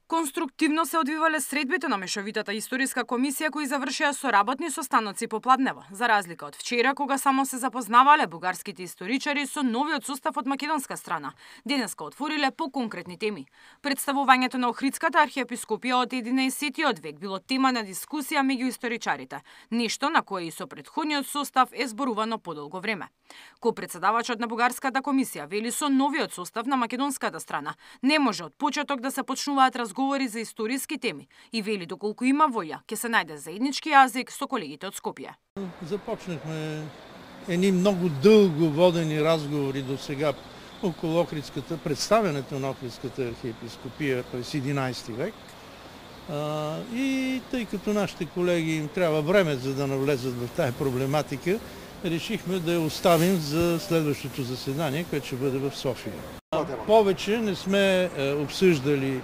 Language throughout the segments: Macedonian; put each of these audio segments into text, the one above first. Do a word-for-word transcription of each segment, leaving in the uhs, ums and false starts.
Конструктивно се одвивале средбите на мешовитата историска комисија кои завршија со работни состаноци попладнево, за разлика од вчера кога само се запознавале бугарските историчари со новиот состав од македонска страна. Денеска отвориле по конкретни теми. Представувањето на Охридската архиепископија од единаесеттиот век било тема на дискусија меѓу историчарите, нешто на кое и со претходниот состав е зборувано подолго време. Ко-претседавачот на бугарската комисија вели со новиот состав на македонската страна не може од почеток да се почнуваат разговори за историски теми и вели доколку има воља, ќе се најде заеднички јазик со колегите од Скопје. Започнахме едни многу дълго водени разговори до сега околу Охридската, представянето на Охридската архиепископија през единаесети век. А, и тъй като нашите колеги им трябва време за да навлезат в тая проблематика, решихме да я оставим за следващото заседание, което ще бъде в София. Повече не сме обсъждали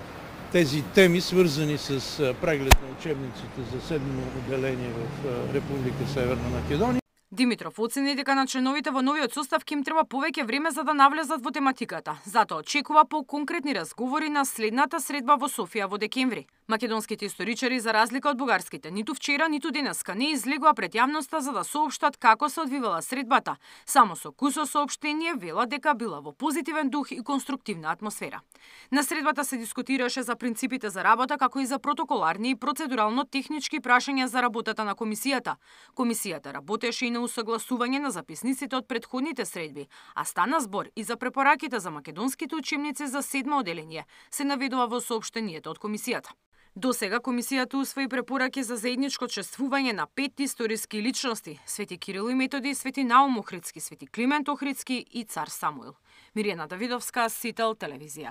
тези теми, свързани с преглед на учебниците за седмо отделение в Република Северна Македония. Димитров оцени дека на членовите во новиот состав ќе им треба повеќе време за да навлезат во тематиката. Затоа очекува по конкретни разговори на следната средба во Софија во декември. Македонските историчари, за разлика од бугарските, ниту вчера, ниту денеска не излегоа пред јавноста за да соопштат како се одвивала средбата. Само со кусо соопштение вела дека била во позитивен дух и конструктивна атмосфера. На средбата се дискутираше за принципите за работа, како и за протоколарни и процедурално-технички прашања за работата на комисијата. Комисијата работеше и на усогласување на записниците од претходните средби, а стана збор и за препораките за македонските учебници за седмо оделение, се наведува во соопштението од комисијата. До сега комисијата усвои препораки за заедничко чествување на пет историски личности: Свети Кирил и Методи, Свети Наум Охридски, Свети Климент Охридски и цар Самуил. Мирјана Давидовска, Сител телевизија.